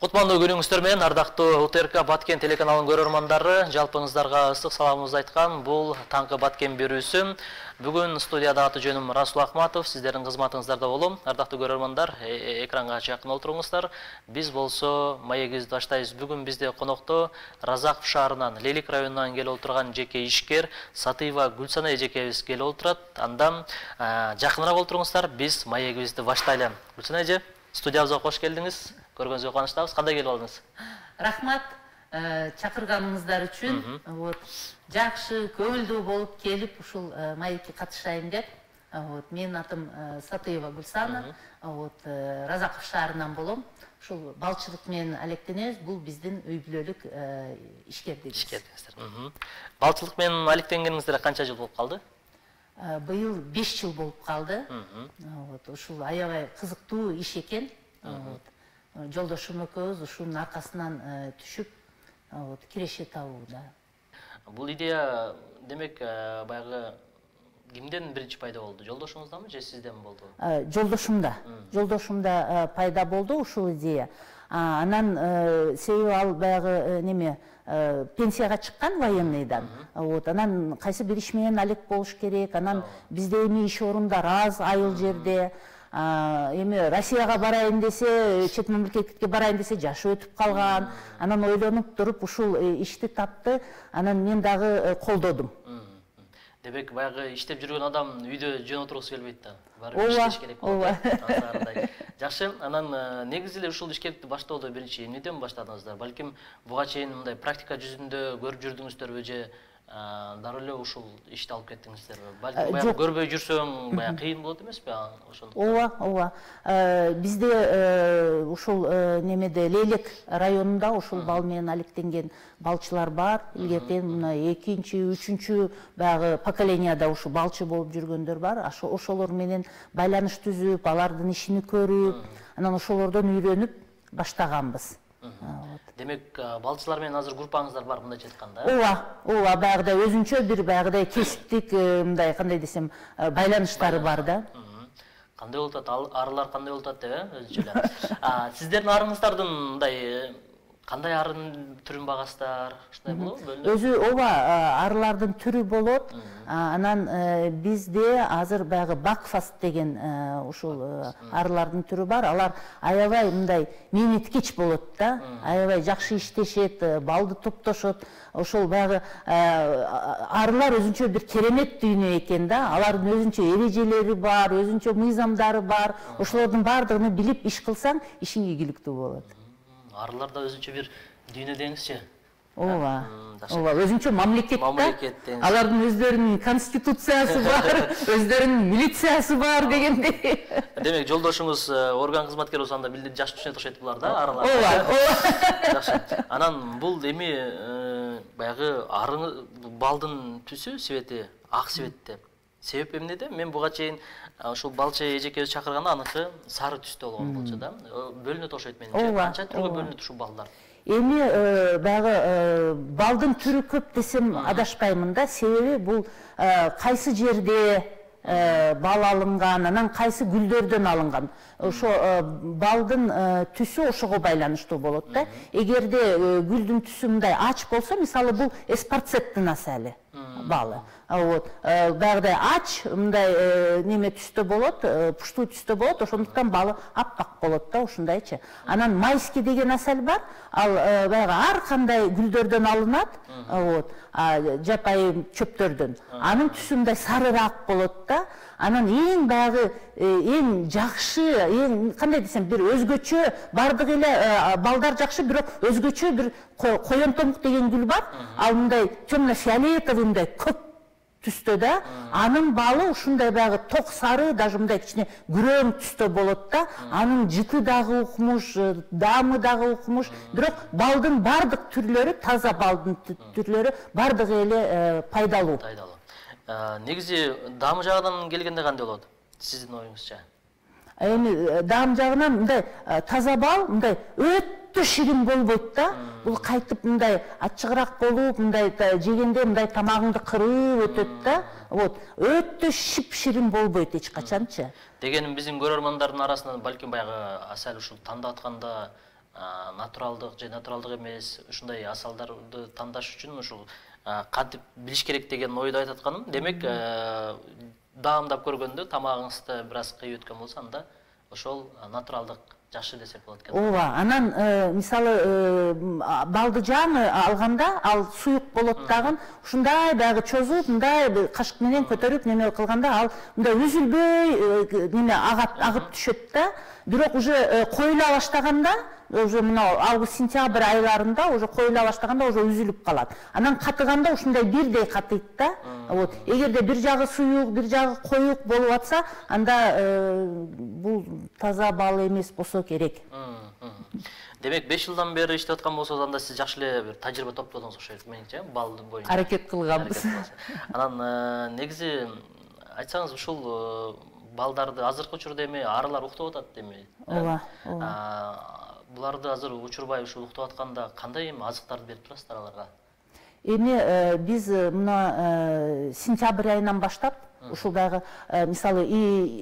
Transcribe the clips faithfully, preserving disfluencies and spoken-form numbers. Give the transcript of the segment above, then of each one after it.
Кутмандуу күнүңүздөр менен ардактуу УТРК Баткен телеканалынын көрөрмандары, жалпыңыздарга ысык саламыбызды айткан бул таңкы Баткен берүүсү. Бүгүн студияда аты жөнүм Расул Акматов, сиздердин кызматыңыздарда болом. Ардактуу көрөрмандар, экранга жакын отуруңуздар. Биз болсо маегибизди баштайбыз. Бүгүн бизде конокто Разаков шаарынан, Лелик районунан келип отурган жеке ишкер Сатыева Гүлсана эжекебиз келип отурат. Андан жакыныраак отуруңуздар, биз маегибизди баштайлы. Гүлсана эже, студиябызга кош келдиңиз. Көргөнүзгө кубанычтабыз. Кандай келип алдыңыз? Рахмат, чакырганыңыздар үчүн. Вот, жакшы, көңүлдүү болуп келип, ушул маекке катышайын деп. Вот, менин атым Сатыева Гүлсана. Вот, Разаков шаарынан болом. Ушул балчылык менен алектенебиз. Бул биздин үй бүлөлүк ишкердигиз. Ишкердигиздер. Балчылык менен алектенгениңиздер канча жыл болуп калды? Быйыл беш жыл болуп калды. Вот, ушул аябай кызыктуу иш экен. Вот. Жолдошум экөөбүз ушунун аркасынан түшүп, вот, киреше табууда. Бул идея, демек, баягы кимден биринчи пайда болду? Жолдошуңуздамы же сизден болду? Жолдошумда. Жолдошумда пайда болду ушул идея. Анан себеби ал баягы неме пенсияга чыккан военныйдан. Вот, анан кайсы бир иш менен алек болуш керек. Анан бизде эми иш орундар аз, айыл жерде. Эми Россияга барайын десе, чет мамлекетке барайын десе жашы өтүп калган. Анан ойлонуп туруп ушул ишти тапты. Анан мен дагы колдодум. Демек, баягы иштеп жүргөн адам үйдө жөн отургусу келбейт да. Барып иштеш керек болот. Жакшы, анан негизи эле ушул ишкердикти баштоодо биринчи эмнеден баштадыңыздар? Балким буга чейин мындай практика жүзүндө көрүп жүрдүңүздөрбү же дароо эле ушул ишти алып кеттиңиздерби? Балким баягы көрбөй жүрсөң, баягы кыйын болот эмеспи ошондуктан? Ооба, ооба. Бизде ушул немеде Лелик районунда ушул бал менен алектенген балчылар бар. Илгертен мына экинчи, үчүнчү баягы поколенияда ушул балчы болуп жүргөндөр бар. Ошолор менен байланыш түзүп, алардын ишини көрүп, анан ошолордон үйрөнүп баштаганбыз. Демек, балчылар менен азыр группаңыздар бар, мындайча айтканда? Ооба, ооба, баягыдай өзүнчө бир баягыдай кесиптик, мындай кандай десем, байланыштары бар да. Кандай болуп атат? Арылар кандай болуп атат деп, өзүнчө эле. Сиздердин арыңыздардын мындай кандай арын түрүн багасыздар? Ушундай болобу? Өзү ооба, арылардын түрү болот. Анан бизде азыр баягы Бакфаст деген ушул арылардын түрү бар. Алар аябай мындай мээнеткеч болот да. Аябай жакшы иштешет, балды топтошот. Ошол баягы арылар өзүнчө бир керемет дүйнө экен да. Алардын өзүнчө эрежелери бар, өзүнчө мыйзамдары бар. Ошолордун баардыгын билип иш кылсаң, ишиң ийгиликтүү болот. Арыларда өзүнчө бир дүйнө деңизчи. Ооба. Ооба, өзүнчө мамлекет да. Алардын өздөрүнүн конституциясы бар, өздөрүнүн милициясы бар дегендей. Демек, жолдошуңуз орган кызматкери болсо анда билдир жакшы түшүнөт окшойт булар да, аралар. Ооба, ооба. Жакшы. Анан бул эми баягы арың балдын түсү, свети, ак светте. Себеп эмнеде? Мен буга чейин ушул балчы эжекебиз чакырганда аныкы сары түстө болгон болчу да. Бөлүнөт окшойт менимче. Канча түргө бөлүнөт ушул балдар? Эми баягы балдын түрү көп десем адашпаймын да. Себеби бул кайсы жерде бал алынган, анан кайсы гүлдөрдөн алынган. Ошо балдын түсү ошого байланыштуу болот да. Эгерде гүлдүн түсү мындай ач болсо, мисалы бул эспарцеттин асалы балы. Вот, баягыдай ач, мындай неме түстө болот, пуштуу түстө болот, ошондуктан балы аппак болот да, ушундайчы. Анан майский деген асал бар, ал баягы ар кандай гүлдөрдөн алынат, вот, жапайы чөптөрдөн. Анын түсү мындай сарыраак болот да. Анан эң баягы эң жакшы, эң кандай десем, бир өзгөчө, бардык эле балдар жакшы, бирок өзгөчө бир коёнтомук деген гүл бар. Ал мындай темно-фиолетовый мындай көк түстө да. Анын балы ушундай баягы ток сары, даже мындай кичине күрөң түстө болот да. Анын жыты дагы укмуш, даамы дагы укмуш. Бирок балдын бардык түрлөрү, таза балдын түрлөрү бардыгы эле пайдалуу. Негизи даамы жагынан келгенде кандай болот? Сиздин оюңузча? Эми даам жагынан мындай таза бал, мындай өтө ширин болбойт да. Бул кайтып мындай ачыгыраак болуп, мындай жегенде мындай тамагыңды кырып өтөт да. Вот, өтө шип-ширин болбойт эч качанчы. Дегеним биздин көрөрмандардын арасынан балким баягы асал ушул тандап атканда натуралдык же натуралдык эмес ушундай асалдарды тандаш үчүн ушул кантип билиш керек деген ойду айтып атканым. Демек, даамдап көргөндө тамагыңызды бир аз кыйып өткөн болсо, анда ошол натуралдык жакшы десек болот экен. Ооба, анан мисалы балды жаңы алганда ал суюк болот дагы, ушундай баягы чозуп, мындай кашык менен көтөрүп неме кылганда ал мындай үзүлбөй неме агат агып түшөт да. Бирок уже коюла баштаганда, уже мына август-сентябрь айларында уже коюла баштаганда уже үзүлүп калат. Анан катыганда ушундай бирдей катыйт да. Вот, эгерде бир жагы суюк, бир жагы коюк болуп атса, анда бул таза бал эмес болсо керек. Демек, беш жылдан бери иштеп аткан болсоңуз, анда сиз жакшы эле бир тажрыйба топтодуңуз окшойт менимче, балдын боюнча. Аракет кылганбыз. Анан негизи айтсаңыз, ушул балдарды азыркы учурда эми арылар уктап атат эми. Ооба, ооба. Буларды азыр учурбай ушул уктап атканда кандай эми азыктарды берип турасыздар аларга? Эми биз мына сентябрь айынан баштап ушул дагы мисалы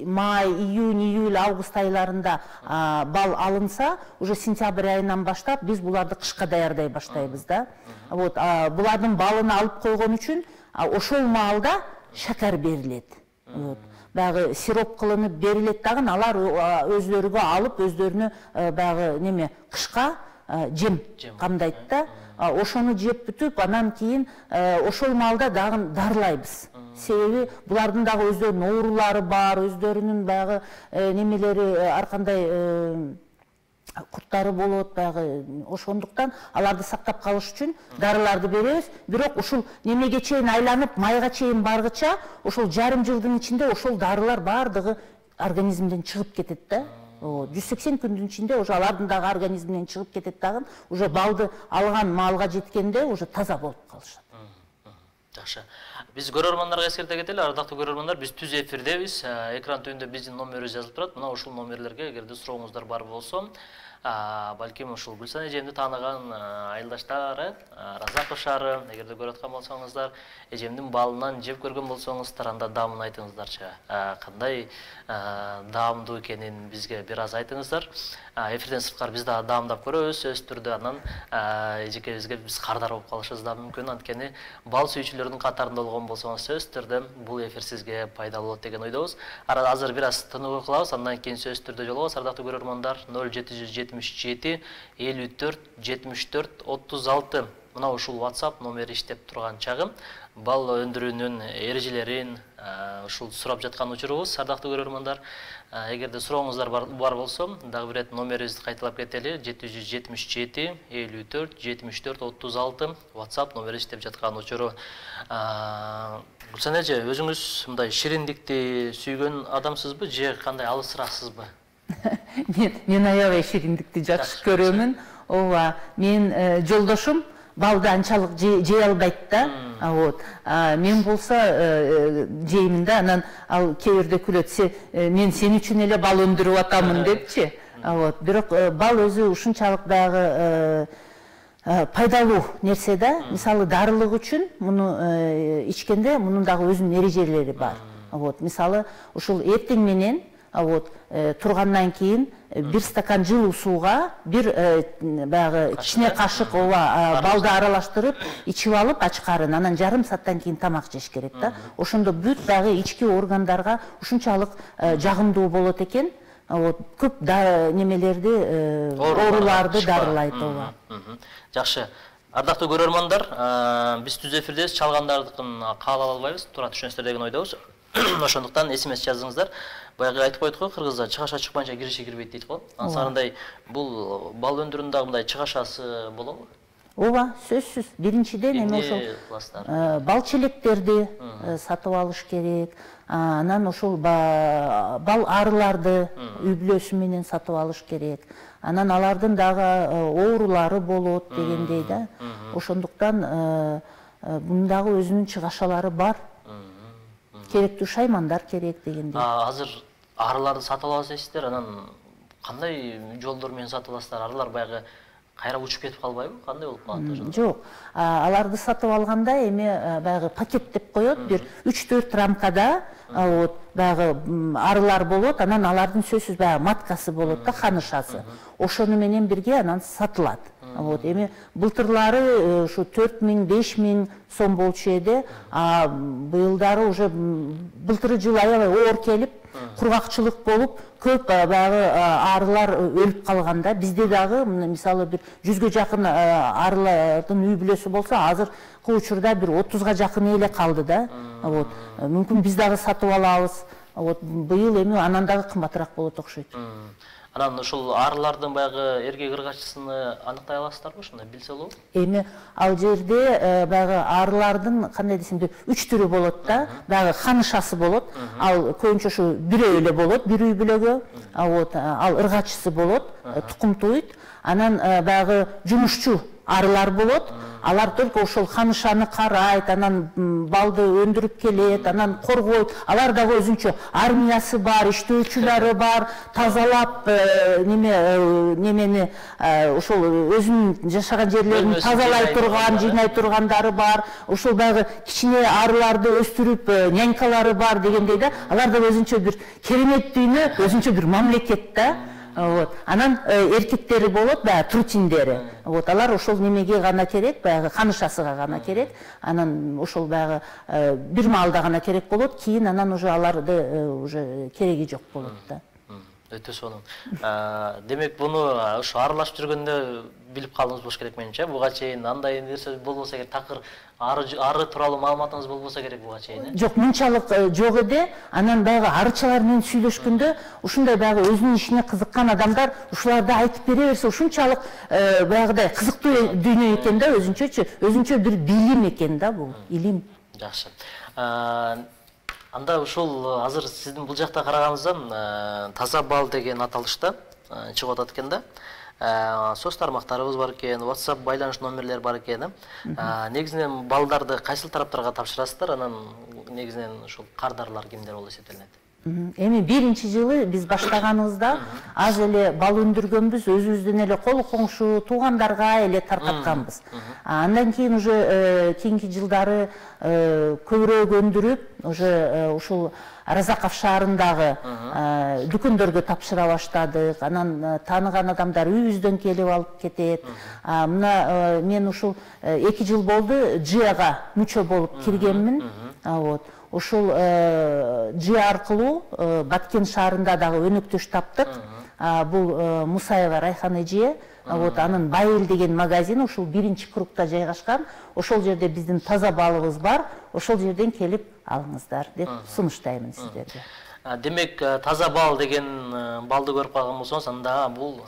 май, июнь, июль, август айларында бал алынса, уже сентябрь айынан баштап биз буларды кышка даярдай баштайбыз да. Вот, булардын балын алып койгон үчүн ошол маалда шакар берилет. Вот. Баягы сироп кылынып берилет дагы, алар өздөрүгө алып, өздөрүнө баягы неме кышка жем камдайт да. Ошону жеп бүтүп, анан кийин ошол маалда дагы дарылайбыз. Себеби булардын дагы өздөрүнүн оорулары бар, өздөрүнүн баягы немелери ар кандай курттары болот баягы. Ошондуктан аларды сактап калыш үчүн дарыларды беребиз. Бирок ушул немеге чейин айланып, майга чейин баргыча, ошол жарым жылдын ичинде ошол дарылар бардыгы организмден чыгып кетет да. жүз сексен күндүн ичинде уже алардын дагы организминен чыгып кетет дагы, уже балды алган маалга жеткенде уже таза болуп калышат. Жакшы. Биз көрөрмандарга эскерте кетели, ардактуу көрөрмандар, биз түз эфирдебиз. Экран түбүндө биздин номерибиз жазылып турат. Мына ушул номерлерге эгерде сурооңуздар бар болсо, балким ушул Гүлсан эжемди тааныган айылдаштары, Разаков шаары, эгерде көрүп аткан болсоңуздар, эжемдин балынан жеп көргөн болсоңуздар, анда даамын айтыңыздарчы. Кандай даамдуу экенин бизге бир аз айтыңыздар. Эфирден сырткары биз дагы даамдап көрөбүз, сөзсүз түрдө. Анан эжекебизге биз кардар болуп калышыбыз да мүмкүн. Анткени бал сүйүүчүлөрдүн катарында болгон болсоңуз, сөзсүз түрдө бул эфир сизге пайдалуу болот деген ойдобуз. Азыр бир аз тынуу кылабыз, андан кийин сөзсүз түрдө жолугабыз. Ардактуу көрөрмандар, ноль жети жүз жетимиш жети элүү төрт жетимиш төрт отуз алты мына ушул WhatsApp номери иштеп турган чагы. Бал өндүрүүнүн эрежелерин ушул сурап жаткан учурубуз. Ардактуу көрөрмандар, эгерде сурооңуздар бар болсо, дагы бир рет номерибизди кайталап кетели. жети жүз жетимиш жети элүү төрт жетимиш төрт отуз алты WhatsApp номери иштеп жаткан учуру. Гүлсан эже, өзүңүз мындай шириндикти сүйгөн адамсызбы же кандай алысырааксызбы? Мен аябай шириндикти жакшы көрөмүн. Ооба, мен жолдошум балды анчалык жей албайт да. Вот. Мен болсо жеймин да, анан ал кээ бирде күлөт, мен сен үчүн эле бал өндүрүп атамын депчи. Вот. Бирок бал өзү ушунчалык дагы пайдалуу нерсе да. Мисалы дарылык үчүн муну ичкенде мунун дагы өзүнүн эрежелери бар. Вот. Мисалы ушул эртең менен вот тургандан кийин бир стакан жылуу сууга бир баягы кичине кашык ооба балды аралаштырып ичип алып ачкарын, анан жарым сааттан кийин тамак жеш керек да. Ошондо бүт дагы ички органдарга ушунчалык жагымдуу болот экен. Вот көп немелерди, ооруларды дарылайт ооба. Жакшы. Ардактуу көрөрмандар, биз түз эфирдебиз, чалгандардыкын каала албайбыз, туура түшүнөсүздөр деген ойдобуз. Ошондуктан эсемес жазыңыздар. Баягы айтып койдук го, кыргызда чыгаша чыкпайынча кириши кирбейт дейт го. Ансарындай бул бал өндүрүүнүн мындай чыгашасы болобу? Ооба, сөзсүз. Биринчиден эми ошол бал челектерди сатып алыш керек. Анан ошол бал арыларды үй бүлөсү менен сатып алыш керек. Анан алардын дагы оорулары болот дегендей да. Ошондуктан бунун дагы өзүнүн чыгашалары бар. Керектүү шаймандар керек дегендей. Азыр арыларды сатып аласыз дейсиздер, анан кандай жолдор менен сатып аласыздар? Арылар баягы кайра учуп кетип калбайбы? Кандай болуп калат? Жок. Аларды сатып алганда эми баягы пакет деп коет, бир үч төрт рамкада вот баягы арылар болот, анан алардын сөзсүз баягы маткасы болот да, ханышасы. Ошону менен бирге анан сатылат. Вот эми былтырлары ушу төрт миң беш миң сом болчу эди, а быйылдары уже былтыры жылы аябай оор келип, кургакчылык болуп, көп баягы арылар өлүп калганда, бизде дагы мисалы бир жүзгө жакын арылардын үй бүлөсү болсо, азыркы учурда бир отузга жакын эле калды да. Вот мүмкүн биз дагы сатып алабыз. Вот быйыл эми анан дагы кымбатыраак болот окшойт. Анан ушул арылардын баягы эркек ыргачысын аныктай аласыздарбы, ушундай билсе болобу? Эми ал жерде баягы арылардын кандай десем, үч түрү болот да. Баягы ханышасы болот. Ал көбүнчө ушу бирөө эле болот, бир үй бүлөгө. Вот ал ыргачысы болот, тукум туйт. Анан баягы жумушчу арылар болот. Алар только ошол ханышаны карайт, анан балды өндүрүп келет, анан коргойт. Алар дагы өзүнчө армиясы бар, иштөөчүлөрү бар, тазалап неме немени ошол өзүнүн жашаган жерлерин тазалай турган, жыйнай тургандары бар. Ошол дагы кичине арыларды өстүрүп нянькалары бар дегендей да. Алар дагы өзүнчө бир керемет дүйнө, өзүнчө бир мамлекет да. Вот. Анан эркектери болот, баягы трутиндери. Вот алар ошол немеге гана керек, баягы ханышасыга гана керек. Анан ошол баягы бир маалда гана керек болот, кийин анан уже аларды уже кереги жок болот да. Өтө сонун. Демек буну ушу аралашып жүргөндө билип калдыңыз болуш керек менимче. Буга чейин андай нерсе болбосо керек, такыр ары тууралуу маалыматыңыз болбосо керек буга чейин. Жок, мынчалык жок эди. Анан баягы арычалар менен сүйлөшкөндө ушундай баягы өзүнүн ишине кызыккан адамдар ушуларды айтып бере берсе, ушунчалык баягыдай кызыктуу дүйнө экен да, өзүнчөчү, өзүнчө бир билим экен да бул, илим. Жакшы. Анда ушул азыр сиздин бул жакта караганыңыздан таза бал деген аталышта чыгып атат экен да. Соц тармактарыбыз бар экен, WhatsApp байланыш номерлери бар экен. Негизинен балдарды кайсыл тараптарга тапшырасыздар? Анан негизинен ушул кардарлар кимдер болуп эсептелет? Эми биринчи жылы биз баштаганыбызда аз эле бал өндүргөнбүз, өзүбүздүн эле кол коңшу туугандарга эле таркатканбыз. Андан кийин уже кийинки жылдары көбүрөөк өндүрүп, уже ушул Разаков шаарындагы дүкөндөргө тапшыра баштадык. Анан тааныган адамдар үйүбүздөн келип алып кетет. Мына мен ушул эки жыл болду Джияга мүчө болуп киргенмин. Вот. Ушул Джи аркылуу Баткен шаарында дагы өнөктөш таптык. Бул Мусаева Райхан эже. Вот анын Байыл деген магазин ушул биринчи кругта жайгашкан. Ошол жерде биздин таза балыбыз бар. Ошол жерден келип алыңыздар деп сунуштаймын сиздерге. Демек, таза бал деген балды көрүп калган болсоңуз, анда бул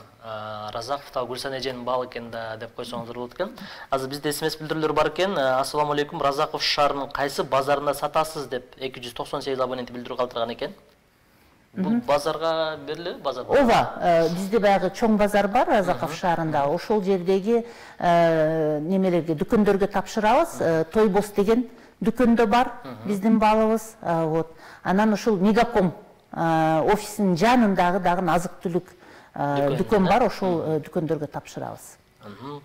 Разаковдагы Гүлсан эженин балы экен да деп койсоңуздар болот экен. Азыр бизде смс билдирүүлөр бар экен. Ассаламу алейкум, Разаков шаарынын кайсы базарында сатасыз деп эки жүз токсон сегиз абонент билдирүү калтырган экен. Бул базарга берилеби, базар? Ооба, бизде баягы чоң базар бар Разаков шаарында. Ошол жердеги немелерге, дүкөндөргө тапшырабыз. Тойбос деген дүкөндө бар биздин балыбыз. Вот. Анан ушул Мегаком офисинин жанындагы дагы азык-түлүк дүкөн бар, ошол дүкөндөргө тапшырабыз.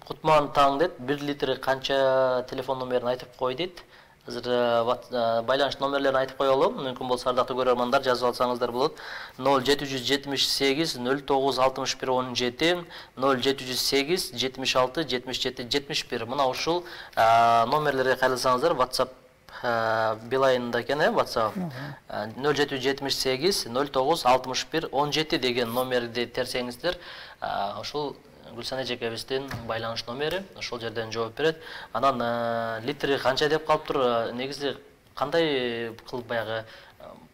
Кутман таң дейт, бир литр канча телефон номерин айтып кой дейт. Азыр байланыш номерлерин айтып коелу. Мүмкүн болсо ардактуу көрөрмандар жазып алсаңыздар болот. ноль жети жүз жетимиш сегиз ноль тогуз алтымыш бир он жети, ноль жети жүз сегиз жетимиш алты жетимиш жети жетимиш бир. Мына ушул номерлерге кайрылсаңыздар, WhatsApp Билайында экен, WhatsApp ноль жети жүз жетимиш сегиз ноль тогуз алтымыш бир он жети деген номерди терсеңиздер, ошол Гүлсан эжекебиздин байланыш номери, ошол жерден жооп берет. Анан литри канча деп калыптыр, негизи кандай кылып баягы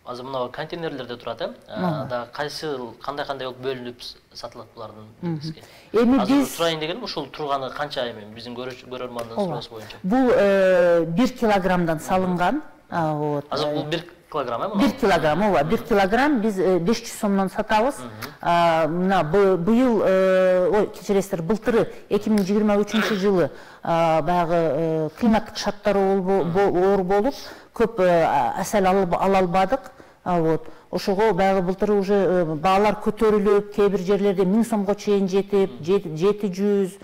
азыр мына контейнерлерде турат, э? Да кайсы кандай-кандай болуп бөлүнүп сатылат булардын бизге. Эми биз сурайын дегеним ушул турганы канча эми биздин көрөрмандын суроосу боюнча. Бул бир килограммдан салынган. Вот. Азыр бул бир килограмм, э? бир килограмм, ооба, бир килограмм биз беш жүз сомдон сатабыз. Мына быйыл, ой, кечиресиздер, былтыры эки миң жыйырма үчүнчү жылы баягы климаттык шарттар оор болуп, көп асал ала албадык. Вот. Ошого баягы былтыр уже баалар көтөрүлүп, кээ бир жерлерде миң сомго чейин жетип, жети жүз,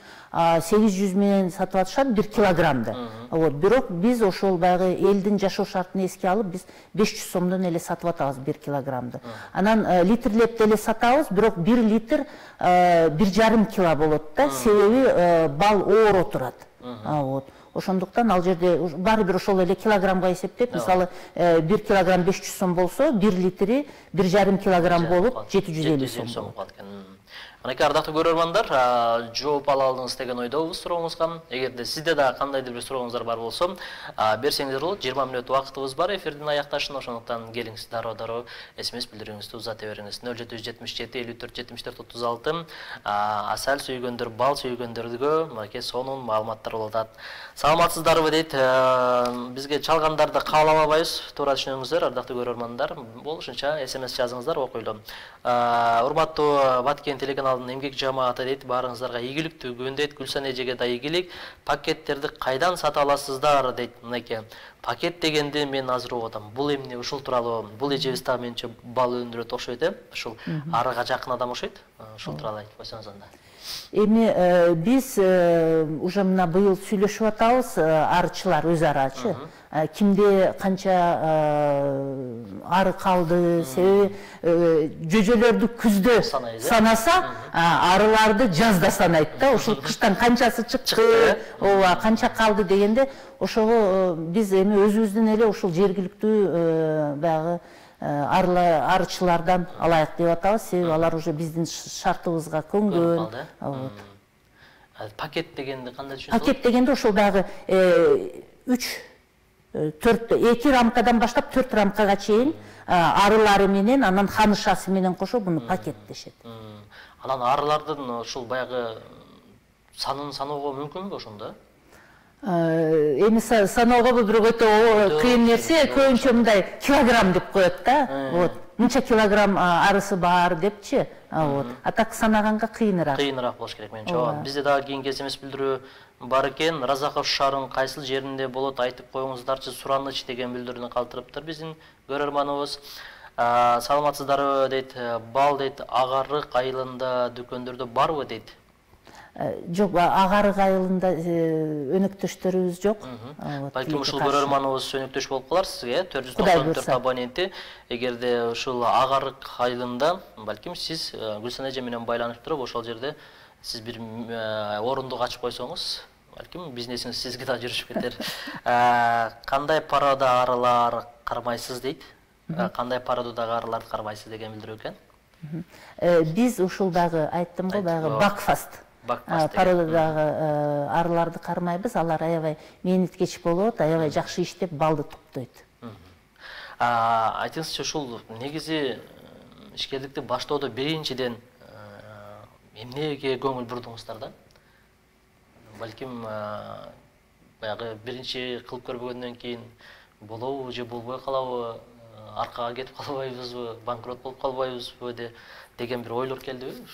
сегиз жүз менен сатып атышат бир килограммды. Вот. Бирок биз ошол баягы элдин жашоо шартын эске алып, биз беш жүз сомдон эле сатып атабыз бир килограммды. Анан литрлеп деле сатабыз, бирок бир литр бир жарым кило болот да, себеби бал ооро турат. Вот. Ошондуктан ал жерде баары бир ошол эле килограммга эсептеп, мисалы бир килограмм беш жүз сом болсо, бир литри бир жарым килограмм болуп жети жүз элүү сом болот. Анакей ардактуу көрөрмандар, жооп ала алдыңыз деген ойдобуз сурооңузга. Эгерде сизде да кандайдыр бир сурооңуздар бар болсо, берсеңиздер болот. жыйырма мүнөт убактыбыз бар эфирдин аякташына, ошондуктан келиңиз дароо-дароо смс билдирүүңүздү узата бериңиз. нөл жети жүз жетимиш жети элүү төрт жетимиш төрт отуз алты. Асал сүйгөндөр, бал сүйгөндөргө мынакей сонун маалыматтар болуп атат. Саламатсыздарбы дейт. Бизге чалгандарды кабыл албайбыз. Туура түшүнүңүздөр, ардактуу көрөрмандар. Болушунча смс жазыңыздар, окуйлу. Урматтуу Баткен телеканалынын эмгек жамааты дейт, баарыңыздарга ийгиликтүү күн дейт, Гүлсан эжеге да ийгилик. Пакеттерди кайдан сата аласыздар дейт. Мынакей пакет дегенди мен азыр угуп атам. Бул эмне, ушул тууралуу, бул эжебиз да менче бал өндүрөт окшойт, э? Ушул арыга жакын адам окшойт. Ушул тууралуу айтып койсоңуз анда. Эми биз уже мына быйыл сүйлөшүп атабыз, арычылар өз арачы. Кимде канча ары калды, себеби жөжөлөрдү күздө санаса, арыларды жазда санайт да. Ошол кыштан канчасы чыкты, ооба, канча калды дегенде, ошого биз эми өзүбүздүн эле ушул жергиликтүү баягы арычылардан алайык деп атабыз, себеби алар уже биздин шартыбызга көнгөн. Пакет дегенди кандай түшүнөсүз? Пакет дегенде ошол баягы үч төрт эки рамкадан баштап төрт рамкага чейин арылары менен, анан ханышасы менен кошо буну пакет дешет. Анан арылардын ушул баягы санын саноого мүмкүнбү ошондо? Эми саноого бул бирок өтө кыйын нерсе, көбүнчө мындай килограмм деп коет да. Вот. Мынча килограмм арысы бар депчи. Вот. А так санаганга кыйыныраак. Кыйыныраак болуш керек менче. Бизде дагы кийинки смс билдирүү бар экен. Разаков шаарынын кайсыл жеринде болот, айтып коюңуздарчы, Сураныч деген билдирүүнү калтырыптыр биздин көрөрманыбыз. Саламатсыздарбы дейт, бал дейт, Агарык айылында дүкөндөрдө барбы дейт. Жок, Агарык айылында өнөктөштөрүбүз жок. Балким ушул көрөрманыбыз өнөктөш болуп калар сизге, төрт жүз токсон төрт абоненти. Эгерде ушул Агарык айылында, балким сиз Гүлсан эже менен байланып туруп, ошол жерде сиз бир орундук ачып койсоңуз, балким бизнесиңиз сизге да жүрүшүп кетер. Кандай парада арылар кармайсыз дейт. Кандай парададагы арыларды кармайсыз деген билдирүү экен. Биз ушул дагы айттым го, баягы Бакфаст. Пародадагы арыларды кармайбыз, алар аябай мээнеткеч болот, аябай жакшы иштеп балды топтойт. Айтыңызчы, ушул негизи ишкерликти баштоодо биринчиден эмнеге көңүл бурдуңуздар да? Балким баягы биринчи кылып көрбөгөндөн кийин болобу же болбой калабы, аркага кетип калбайбызбы, банкрот болуп калбайбызбы деген бир ойлор келдиби?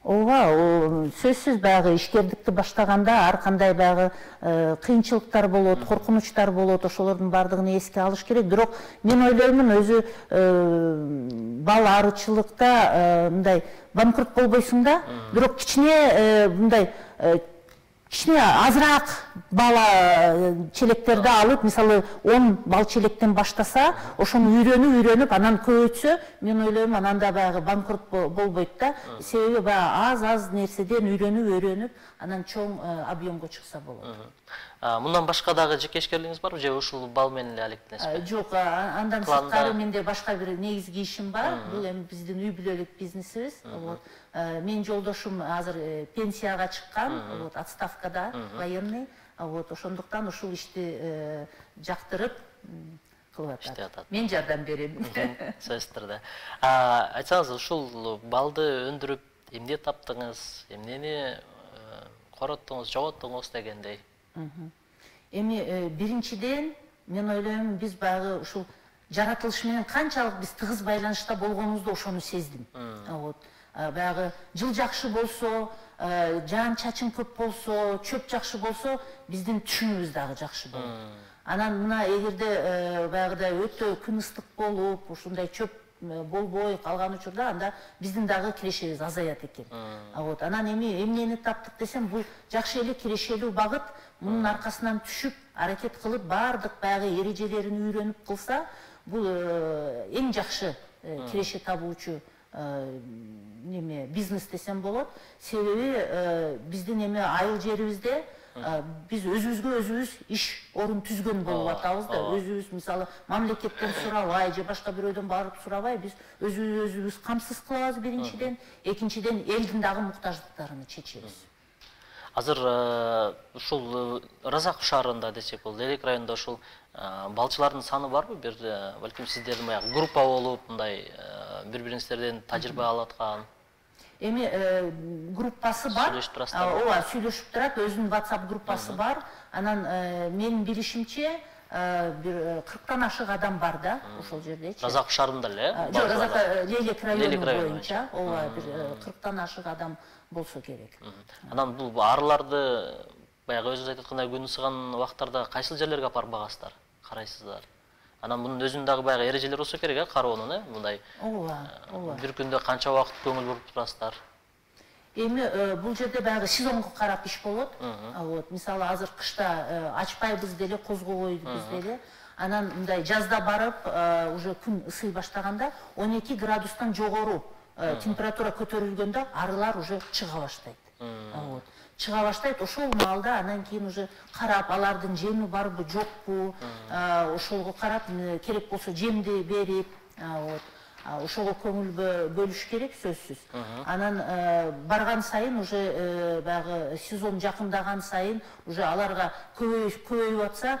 Ооба, сөзсүз баягы ишкердикти баштаганда ар кандай баягы кыйынчылыктар болот, коркунучтар болот, ошолордун баардыгын эске алыш керек. Бирок мен ойлоймун, өзү бал арычылыкта мындай банкрот болбойсуң да, бирок кичине мындай кичине азыраак бала челектерди алып, мисалы он бал челектен баштаса, ошону үйрөнүп, үйрөнүп, анан көбөйтсө, мен ойлойм, анан да баягы банкрот болбойт да. Себеби баягы аз-аз нерседен үйрөнүп, үйрөнүп, анан чоң объемго чыкса болот. Мындан башка дагы жекешкерлигиңиз барбы же ушул бал менен эле алектенесизби? Жок, андан сырткары менде башка бир негизги ишим бар. Бул эми биздин үй бүлөлүк бизнесибиз. Менин жолдошум азыр пенсияга чыккан, вот, отставкада, военный. Вот, ошондуктан ушул ишти жактырып кылып атат. Мен жардам берем. Сөзсүз түрдө. Айтсаңыз, ушул балды өндүрүп эмне таптыңыз, эмнени короттуңуз, жоготтуңуз дегендей? Эми биринчиден мен ойлойм, биз баягы ушул жаратылыш менен канчалык биз тыгыз байланышта болгонубузду ошону сездим. Вот. Баягы жыл жакшы болсо, жаан чачын көп болсо, чөп жакшы болсо, биздин түшүмүбүз дагы жакшы болот. Анан мына эгерде баягыдай өтө күн ыстык болуп, ушундай чөп болбой калган учурда анда биздин дагы кирешебиз азаят экен. Вот анан эми эмнени таптык десем, бул жакшы эле кирешелүү багыт. Мунун аркасынан түшүп, аракет кылып, бардык баягы эрежелерин үйрөнүп кылса, бул эң жакшы киреше табуучу неме бизнес десем болот. Себеби биздин эме айыл жерибизде биз өзүбүзгө өзүбүз иш орун түзгөн болуп атабыз да. Өзүбүз мисалы мамлекеттен сурабай же башка бирөөдөн барып сурабай, биз өзүбүз өзүбүз камсыз кылабыз биринчиден, экинчиден элдин дагы муктаждыктарын чечебиз. Азыр ушул Разаков шаарында десек болот, Элек районунда ушул балчылардын саны барбы? Бир балким сиздердин баягы группа болуп, мындай бири-бириңиздерден тажрыйба алып аткан. Эми группасы бар. Сүйлөшүп турасыздар. Ооба, сүйлөшүп турат, өзүнүн WhatsApp группасы бар. Анан менин билишимче бир кырктан ашык адам бар да ошол жерде. Разаков шаарында эле? Жок, Разаков Элек району боюнча, ооба, бир кырктан ашык адам болсо керек. Анан бул арыларды баягы өзүңүз айтып аткандай күн ысыган убактарда кайсыл жерлерге апарып багасыздар, карайсыздар? Анан мунун өзүнүн дагы баягы эрежелери болсо керек, э, кароонун, э, мындай. Ооба, ооба. Бир күндө канча убакыт көңүл буруп турасыздар? Эми бул жерде баягы сезонго карап иш болот. Вот, мисалы азыр кышта ачпайбыз деле, козгобойбуз деле. Анан мындай жазда барып, уже күн ысый баштаганда он эки градустан жогору температура көтөрүлгөндө арылар уже чыга баштайт. Вот. Чыга баштайт, ошол маалда анан кийин уже карап, алардын жеми барбы, жокпу, ошолго карап, керек болсо жемди берип, вот. Ошого көңүл бөлүш керек, сөзсүз. Анан барган сайын уже баягы сезон жакындаган сайын уже аларга көбөйүп атса,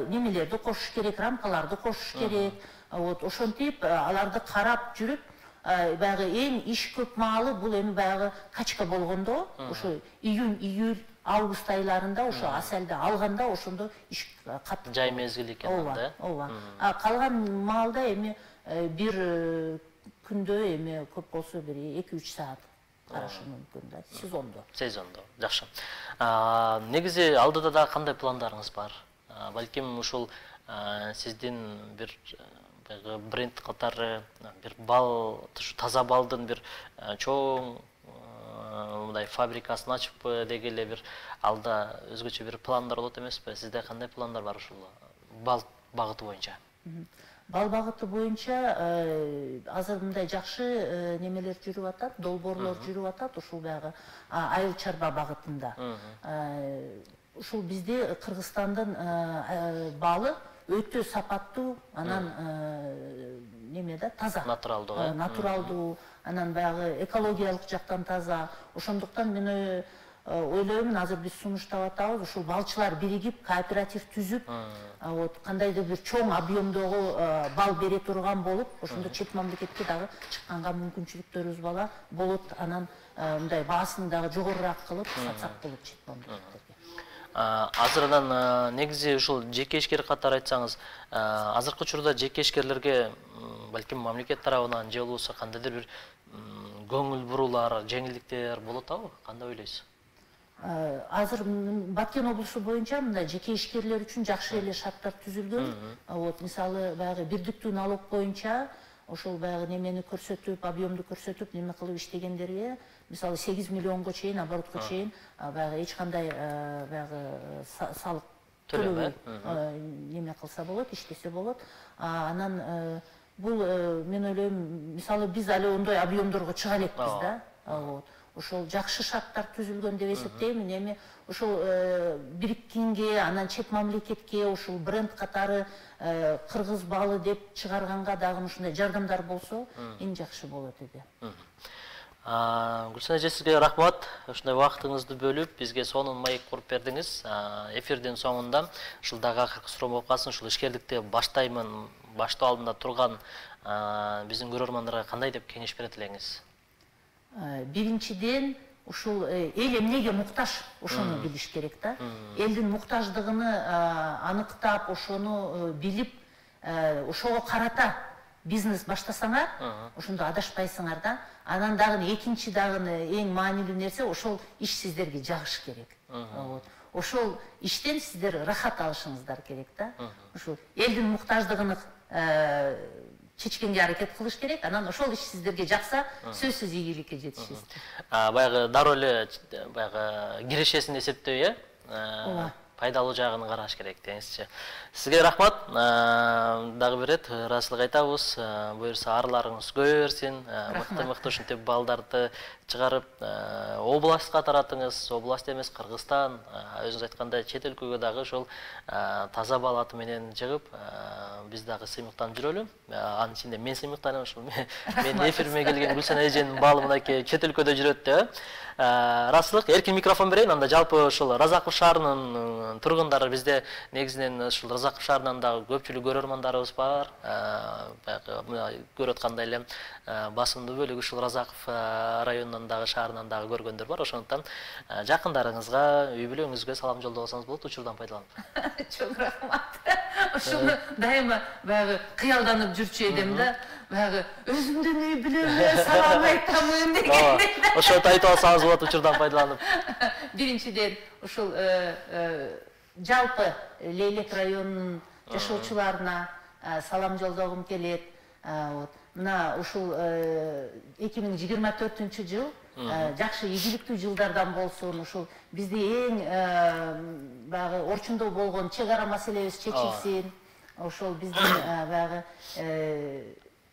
немелерди кошуш керек, рамкаларды кошуш керек. Вот, ошентип аларды карап жүрүп, баягы эң иш көп маалы бул эми баягы качка болгондо, ошо июнь, июль, август айларында ошо асалды алганда ошондо иш катты. Жай мезгил экен да. Ооба. А калган маалда эми бир күндө эми көп болсо бир эки үч саат карашы мүмкүн да, сезондо. Сезондо, жакшы. Негизи алдыда да кандай пландарыңыз бар? Балким ушул сиздин бир бренд катары бир бал, таза балдын бир чоң мындай фабрикасын ачып дегеле бир алда өзгөчө бир пландар болот эмеспи? Сизде кандай пландар бар ушул бал багыты боюнча? Бал багыты боюнча азыр мындай жакшы немелер жүрүп атат, долбоорлор жүрүп атат, ушул баягы айыл чарба багытында. Ушул бизде Кыргызстандын балы өтө сапаттуу, анан неме да, таза. Натуралдуу. Натуралдуу, анан баягы экологиялык жактан таза. Ошондуктан мен ойлойм, азыр биз сунуштап атабыз, ушул балчылар биригип, кооператив түзүп, вот кандайдыр бир чоң объемдогу бал бере турган болуп, ошондо чет мамлекетке дагы чыкканга мүмкүнчүлүктөрүбүз бала болот. Анан мындай баасын дагы жогорураак кылып сатсак болот чет мамлекеттерге. Азыр анан негизи ушул жеке ишкер катары айтсаңыз, азыркы учурда жеке ишкерлерге балким мамлекет тарабынан же болбосо кандайдыр бир көңүл буруулар, жеңилдиктер болот абы? Кандай ойлойсуз? Азыр Баткен облусу боюнча мындай жеке ишкерлер үчүн жакшы эле шарттар түзүлгөн. Вот, мисалы баягы бирдиктүү налог боюнча ошол баягы немени көрсөтүп, объемду көрсөтүп, неме кылып иштегендерге, мисалы сегиз миллионго чейин, оборотко чейин баягы эч кандай баягы салык төлөбөй неме кылса болот, иштесе болот. Анан бул мен ойлойм, мисалы биз али ондой объемдорго чыга элекпиз да. Вот. Ошол жакшы шарттар түзүлгөн деп эсептейм. Эми ошол бириккенге, анан чет мамлекетке ошол бренд катары кыргыз балы деп чыгарганга дагы ушундай жардамдар болсо эң жакшы болот эди. Гүлсен эже, сизге рахмат. Ушундай убактыңызды бөлүп, бизге сонун маек куруп бердиңиз. Эфирдин соңунда ушул дагы акыркы суроо болуп калсын, ушул ишкерликти баштаймын, баштоо алдында турган биздин көрөрмандарга кандай деп кеңеш берет элеңиз? Биринчиден, ушул эл эмнеге муктаж, ошону билиш керек да. Элдин муктаждыгыны аныктап, ошону билип, ошого карата бизнес баштасаңар, ошондо адашпайсыңар да. Анан дагы экинчи дагы эң маанилүү нерсе, ошол иш сиздерге жагыш керек. ошол иштен сиздер рахат алышыңыздар керек да. Ушул элдин муктаждыгын чечкенге аракет кылыш керек. Анан ошол иш сиздерге жакса, сөзсүз ийгиликке жетишесиз. Баягы дароо эле баягы кирешесин эсептөө, э? Пайдалуу жагын караш керек деңизчи. Сизге рахмат. Дагы бир рет ыраазычылык айтабыз. Буюрса арларыңыз көбөй берсин. Мыкты-мыкты ушинтип балдарды чыгарып, областка таратыңыз. Област эмес, Кыргызстан, өзүңүз айткандай чет өлкөгө дагы ошол таза бал аты менен жыгып, биз дагы сыймыктанып жүрөлү. Анын ичинде мен сыймыктанам, ошол мен эфириме келген Гүлсан эженин балы мынакей чет өлкөдө жүрөт деп. Расылык, эркин микрофон берейин. Анда жалпы ошол Разаков шаарынын тургундары бизде негизинен ошол Разаков шаарынан дагы көпчүлүк көрөрмандарыбыз бар. Баягы көрүп аткандай эле басымдуу бөлүгү ушул Разаков районунан дагы шаарынан дагы көргөндөр бар. Ошондуктан жакындарыңызга, үй бүлөңүзгө салам жолдосоңуз болот, учурдан пайдаланып. Чоң рахмат. Ушуну дайыма баягы кыялданып жүрчү эдим да. Баягы өзүмдүн үй бүлөмө салам айтамын дегендей. Ошону айтып алсаңыз болот, учурдан пайдаланып. Биринчиден ушул жалпы Лейлек районунун жашоочуларына салам жолдогум келет. Мына ушул эки миң жыйырма төртүнчү жыл жакшы ийгиликтүү жылдардан болсун. Ушул бизди эң баягы орчундо болгон чек ара маселебиз чечилсин. Ошол биздин баягы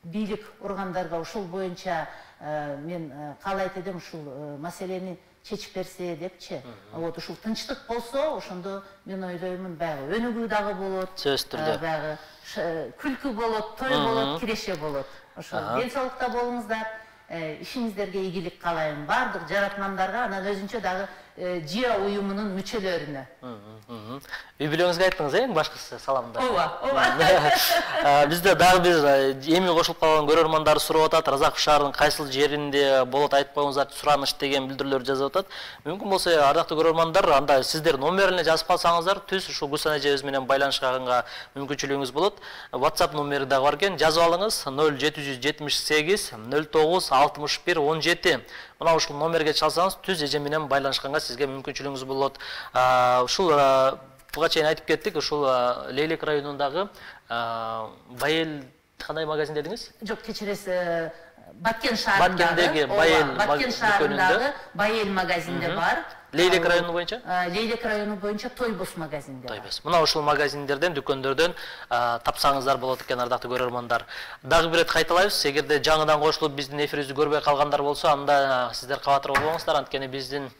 бийлик органдарга ушул боюнча мен каалайт эдим, ушул маселени чечип берсе депчи. Вот ушул тынчтык болсо, ошондо мен ойлоймун баягы өнүгүү дагы болот. Сөзсүз түрдө. Баягы күлкү болот, той болот, киреше болот. Ошол ден соолукта болуңуздар. Ишиңиздерге ийгилик каалайм. Бардык жаратмандарга, анан өзүнчө дагы ЖИА уюмунун мүчөлөрүнө. Үй бүлөңүзгө айттыңыз, эң башкысы саламды. Ооба, ооба. Бизде дагы бир эми кошулуп калган көрөрмандар сурап атат, Разаков шаарынын кайсыл жеринде болот айтпаңыздар, сураныч деген билдирүүлөр жазып атат. Мүмкүн болсо, ардактуу көрөрмандар, анда сиздер номерине жазып калсаңыздар, түз ушул Гүлсан эжебиз менен байланышканга мүмкүнчүлүгүңүз болот. WhatsApp номери дагы бар экен, жазып алыңыз: ноль жети жүз жетимиш сегиз ноль тогуз алтымыш бир он жети. Мына ушул номерге чалсаңыз, түз эже менен байланышканга сизге мүмкүнчүлүгүңүз болот. Ушул буга чейин айтып кеттик, ушул Лейлек районундагы Байел кандай магазин дедиңиз? Жок, кечиресиз, Баткен шаарындагы, Баткен шаарындагы Байел магазинде бар. Лейлек району боюнча? Лейлек району боюнча Тойбос магазинде. Тойбос. Мына ушул магазиндерден, дүкөндөрдөн тапсаңыздар болот экен, ардактуу көрөрмандар. Дагы бир рет кайталайбыз, эгерде жаңыдан кошулуп биздин эфирибизди көрбөй калгандар болсо, анда сиздер кабатыр болбоңуздар, анткени биздин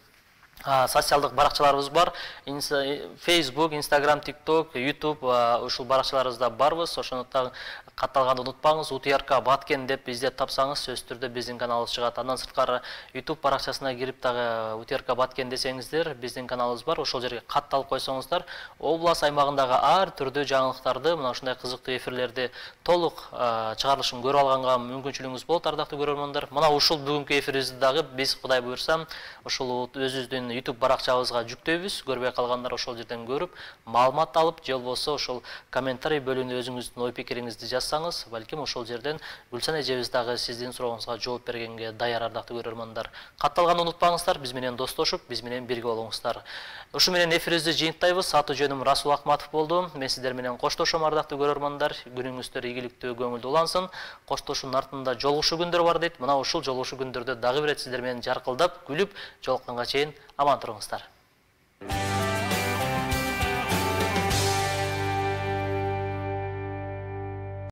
социалдык баракчаларыбыз бар. Facebook, Instagram, TikTok, YouTube ушул баракчаларыбызда барбыз. Ошондуктан катталганды унутпаңыз. УТРК Баткен деп издеп тапсаңыз, сөзсүз түрдө биздин каналыбыз чыгат. Андан сырткары YouTube баракчасына кирип дагы УТРК Баткен десеңиздер, биздин каналыбыз бар. Ошол жерге катталып койсоңуздар, область аймагындагы ар түрдүү жаңылыктарды, мына ушундай кызыктуу эфирлерди толук чыгарылышын көрүп алганга мүмкүнчүлүгүңүз болот, ардактуу көрөрмандар. Мына ушул бүгүнкү эфирибизди дагы биз, Кудай буйрса, ушул өзүбүздүн YouTube баракчабызга жүктөйбүз. Көрбөй калгандар ошол жерден көрүп, маалымат алып, же болбосо ошол комментарий бөлүгүнө өзүңүздүн ой пикириңизди жазсаңыз, балким ошол жерден Гүлсан эжебиз дагы сиздин сурооңузга жооп бергенге даяр, ардактуу көрөрмандар. Катталганды унутпаңыздар, биз менен достошуп, биз менен бирге болуңуздар. Ушу менен эфирибизди жыйынтайбыз. Аты жөнүм Расул Акматов болду. Мен сиздер менен коштошом, ардактуу көрөрмандар. Күнүңүздөр ийгиликтүү, көңүлдүү улансын. Коштошуунун артында жолугушуу күндөр бар дейт. Мына ушул жолугушуу күндөрдө дагы бир рет сиздер менен жаркылдап, күлүп жолукканга чейин аман туруңуздар.